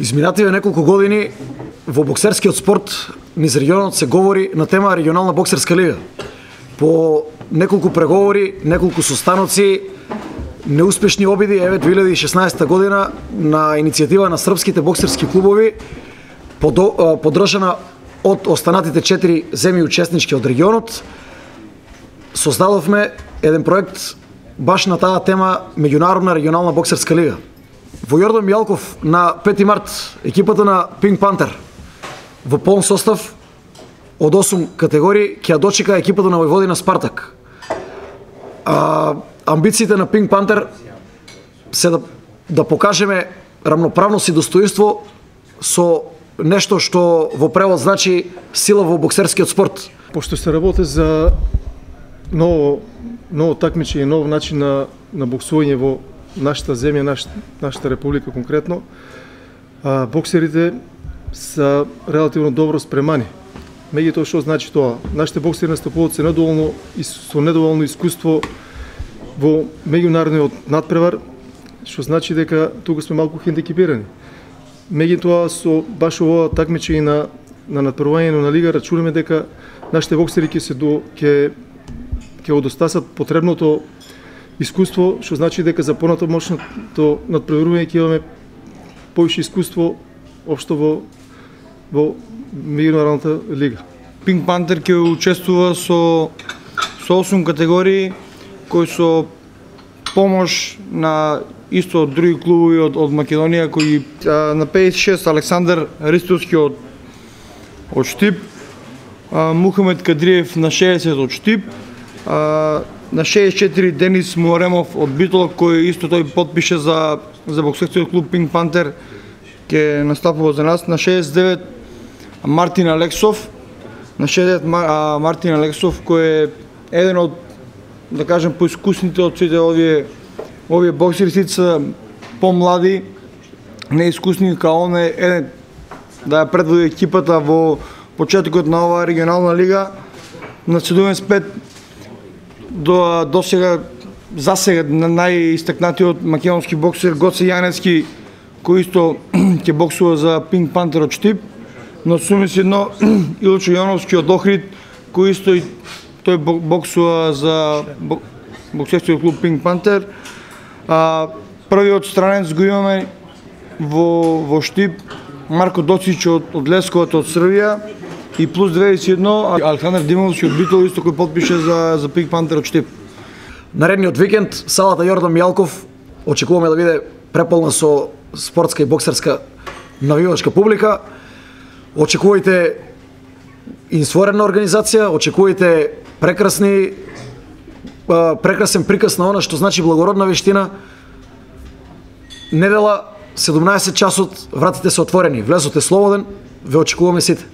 Изминативе неколку години во боксерскиот спорт низ регионот се говори на тема регионална боксерска лига. По неколку преговори, неколку состаноци, неуспешни обиди, еве 2016 година на иницијатива на српските боксерски клубови, поддржана од останатите 4 земји учеснички од регионот, создадовме еден проект баш на таа тема меѓународна регионална боксерска лига. Во Јордан Мијалков на 5 март екипата на Пинк Пантер во полн состав од 8 категории ќе ја дочека екипата на Војводина Спартак. Амбициите на Пинк Пантер се да покажеме рамноправност и достоинство со нешто што во превод значи сила во боксерскиот спорт. Пошто се работи за ново такмичење, нов начин на боксување во нашата земја, нашата република конкретно, боксерите са релативно добро спремани. Меѓутоа што значи тоа? Нашите боксери настапуваат со недоволно искуство во меѓународниот надпревар, што значи дека тука сме малку хендикепирани. Меѓутоа со баш ова такмичење на надпревање на лига рачунаме дека нашите боксери ќе одостасат потребното искуство, што значи дека за понатамошното надпреварување ќе имаме повише искуство општо во меѓународната лига. Пинк Пантер ќе учествува со 8 категории кои со помош на исто од други клубови од Македонија, кои на 56 Александар Ристовски од Штип, Мухамед Кадриев на 60 од Штип, на 64 Денис Муаремов од Битола, кој исто тој потпише за боксерскиот клуб Пинк Пантер, ќе настапува за нас. На 69 Мартин Алексов, кој е еден од, да кажем, поискусните од сите овие боксери, сите се помлади, неискусни, као он е еден да ја предводи екипата во почетокот на оваа регионална лига. На 75 до сега, за сега, најистакнатиот македонски боксер Гоце Јаневски, кој исто ќе боксува за Пинк Пантер од Штип. На 81 Илчо Јоновски од Охрид, кој исто тој боксува за боксерскиот клуб Пинк Пантер. Првиот странец го имаме во Штип, Марко Доцич од Лесковата од Србија, и плюс 21 Александар Димовски од Битола исто кој потпише за Пинк Пантер од Штип. Наредниот викенд салата Јордан Мијалков очекуваме да биде преполна со спортска и боксерска навивачка публика. Очекувајте инсворена организација, очекувајте прекрасен приказ на она што значи благородна вештина. Недела 17 часот, вратите се отворени, влезот е слободен, ве очекуваме сите.